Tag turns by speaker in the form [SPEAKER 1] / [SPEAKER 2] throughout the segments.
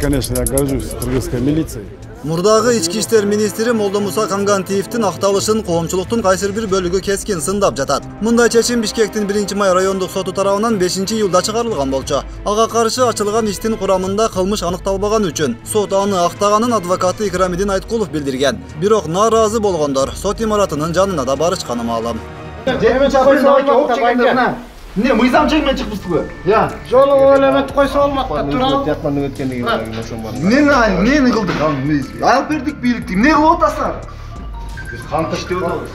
[SPEAKER 1] конечно, я горжусь кыргызской милицией.
[SPEAKER 2] Мурдагы ички иштер министри Молдомуса Кангантиевдин акталышын коомчулуктун кайсыр бир бөлүгү кескин сындап жатат. Мындай чечим Бишкектин 1-май райондук соту тарабынан 5-июлда чыгарылган болчу. Ага каршы ачылган иштин курамында кылмыш аныкталбаган үчүн сот аны актаганын адвокаты Икрамидин Айткулов билдирген. Бирок нааразы болгондор сот имаратынын жанына да барышканы маалым.
[SPEAKER 3] Не, мыйзам чегиме чыкпызбы?
[SPEAKER 4] Я. Жолу элемет койсо болмак да турабы. Жатмандын өткөндүгү ошон бар.
[SPEAKER 3] Эмнени кылдык аны? Алып бердик бийликти. Эмне кылып атасыңар? Биз кантыш деп атабыз.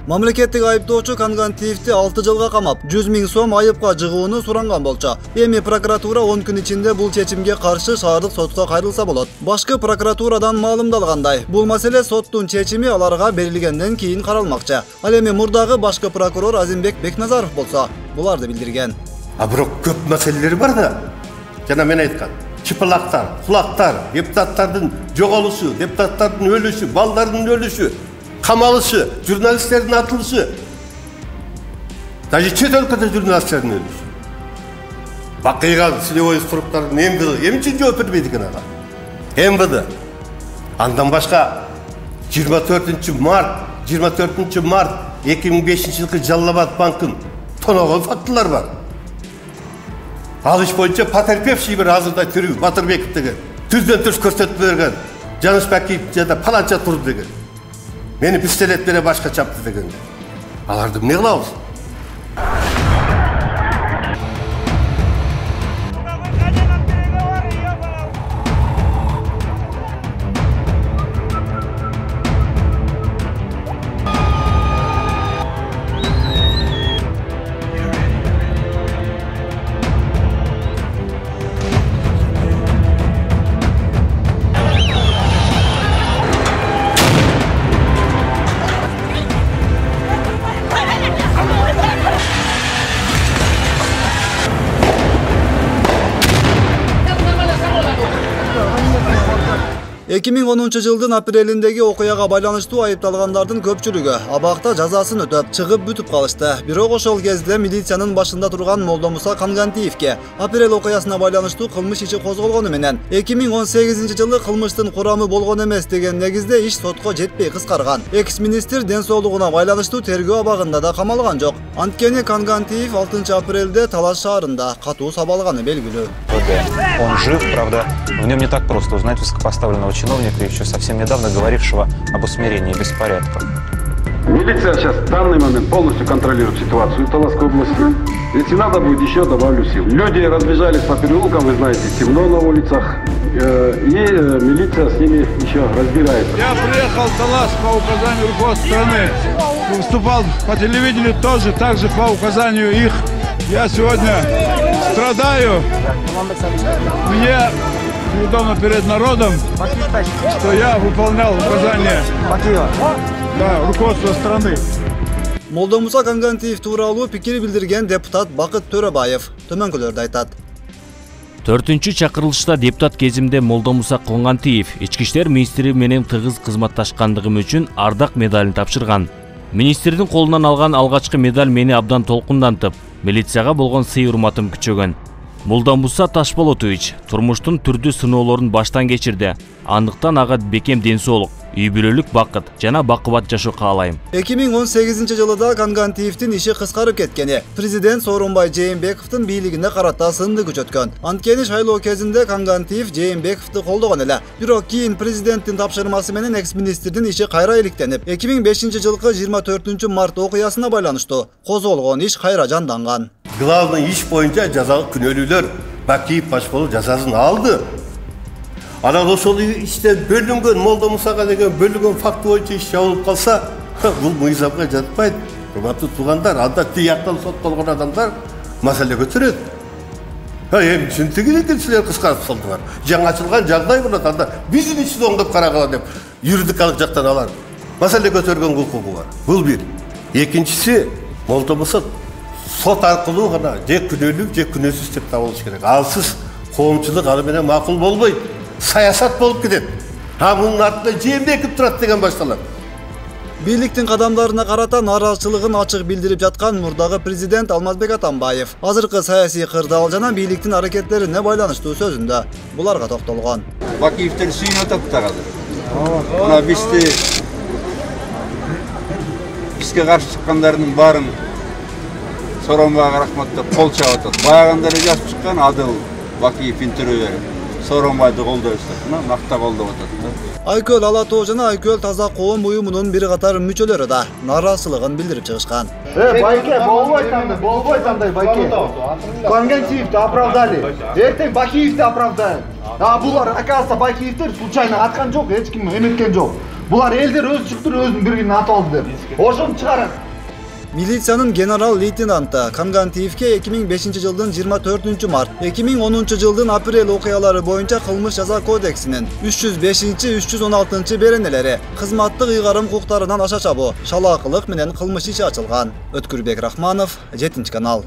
[SPEAKER 2] Мамлекеттик айыптоочу Кангантиевди 6 жылга камап, 100 000 сом айыпка жыгууну суранган болчу. Эми прокуратура 10 күн ичинде бул чечимге каршы шаардык сотко кайрылса болот. Башкы прокуратурадан маалымдалгандай, бул маселе соттун чечими аларга берилгенден кийин каралмакчы. Ал эми мурдагы башкы прокурор Азимбек Бекназаров болсо, буларды билдирген.
[SPEAKER 5] Бирок көп маселелер бар да. Жана мен айткан, чыпылактар, кулактар, депутаттардын жоголушу, депутаттардын өлүшү, балдардын өлүшү, камалышы, журналисттердин атылышы. Даже чет өлкөдө журналисттердин өлүшү. Бакыйга силебой структуралардын эмне үчүн жооп бербейт экен ага? МВД. Андан башка 24 март 2005-жылкы Жалал-Абад банкын тоногон фактылар бар. Ал иш боюнча потерпевший бир азырда тирүү Батырбеков деген түздөн түз көрсөтүп берген. Жанышбеков жада паланча турду деген. Мени пистолет бере башка чапты деген. Аларды эмне кылабыз?
[SPEAKER 2] — 2010 жылдын апрелиндеги окуяга байланыштуу айыпталгандардын көпчүлүгү абакта жазасын өтөп чыгып бүтүп калышты. Бирок ошол кезде милициянын башында турган Молдомуса Кангантиевге апрель окуясына байланыштуу кылмыш иши козголгону менен 2018 жылы кылмыштын курамы болгон эмес деген негизде иш сотко жетпей кыскарган. Экс-министр ден соолугуна байланыштуу тергөө абагында да камалган жок. Анткени Кангантиев 6 апрелде Талаш шаарында катуу сабалганы белгилүү.
[SPEAKER 6] Он жив, правда, в нем не так просто узнать высокопоставленного чиновника, еще совсем недавно говорившего об усмирении беспорядков.
[SPEAKER 7] Милиция сейчас в данный момент полностью контролирует ситуацию в Таласской области. Если надо будет, еще добавлю сил. Люди разбежались по переулкам, вы знаете, темно на улицах. И милиция с ними еще разбирается.
[SPEAKER 8] Я приехал в Талас по указанию руководства страны. Выступал по телевидению тоже, также по указанию их. Я сегодня страдаю. Мне неудобно перед народом, что я выполнял указания руководства страны.
[SPEAKER 2] Молдомуса Кангантиев тууралуу пикир билдирген депутат Бакыт Төрөбаев төмөнкүлөрдү айтат.
[SPEAKER 9] 4-чү чакырылышта депутат кезимде Молдомуса Кангантиев ички иштер министри менен тыгыз кызматташкандыгым үчүн ардак медалын тапшырган. Министрдин колунан алган алгачкы медаль мени абдан толкундантып, милицияга болгон сый-урматым күчөгөн. Молдомуса Ташполотович турмуштун түрдүү сыноолорун баштан кечирди. Андыктан ага бекем ден соолук, үй бүлөлүк бакыт жана бакубат жашоо каалайм.
[SPEAKER 2] 2018 жылыда Кангантиевдин иши кыскарып кеткени президент Сооронбай Жээнбековдун бийлигине карата сынды күчөткөн. Анткени шайлоо кезинде Кангантиев Жээнбековду колдогон эле. Бирок кийин президенттин тапшырмасы менен экс-министрдин иши кайра иликтенип, 2005 жылкы 24 март окуясына байланыштуу козголгон иш кайра жанданган.
[SPEAKER 5] Главный иш боюнча жазалык күнөөлүүлөр Бакиев Башполов жазасын алды. Анан ошол иште бөлүнгөн Молдомусага деген бөлүнгөн факт боюнча иш жабылып калса, бул мыйзамга жатпайт. Урматтуу туугандар, анда тияктан соттолгон адамдар маселе көтөрөт. Эми чынтыгы экен силер кыскартып салдыңар. Жаңы ачылган жагдай болот, анда биздин ишти оңдоп карагыла деп юридикалык жактан алар маселе көтөргөн укугу бар. Бул бир. Экинчиси, Молдомуса сот аркылуу гана же күнөөлүү же күнөөсүз деп табылыш керек. Алсыз коомчулук аны менен макул болбойт. Саясат болуп кетет. Мунун артында Жээнбеков турат деген башталат.
[SPEAKER 2] Бийликтин кадамдарына карата нааразычылыгын ачык билдирип жаткан мурдагы президент Алмазбек Атамбаев азыркы саясий кырдаал жана бийликтин аракеттерине байланыштуу сөзүндө буларга токтолгон.
[SPEAKER 10] Бакиевдер сүйүнүп атат да азыр. Мына бизге каршы чыккандардын баарын Сооронбайга рахмат деп кол чаап атат. Баягындары жазып чыккан Адыл Бакиев интервью берип Сооронбайды колдойбуз деп, накта колдоп атат.
[SPEAKER 2] Айкөл Ала Тоо жана Айкөл Таза Коом уюмунун бир катар мүчөлөрү да нааразычылыгын билдирип чыгышкан.
[SPEAKER 3] Байке, болбойт андай Байке. Конгентиевди оправдали. Эртең Бакиевди оправдайт. Булар оказывается Бакиевдер случайно аткан жок, эч ким эметкен жок. Булар элдер өз чыктыр, өзүнүн биригин атып алды деп. Ошону чыгарат.
[SPEAKER 2] Милициянын генерал-лейтенанты Кангантиевке 2005 жылдын 24 март, 2010 жылдын апрель окуялары боюнча кылмыш жаза кодексинин 305-316 беренелери кызматтык ыйгарым укуктарынан аша чабуу, шалаакылык менен кылмыш иши ачылган. Өткүрбек Рахманов, 7 канал.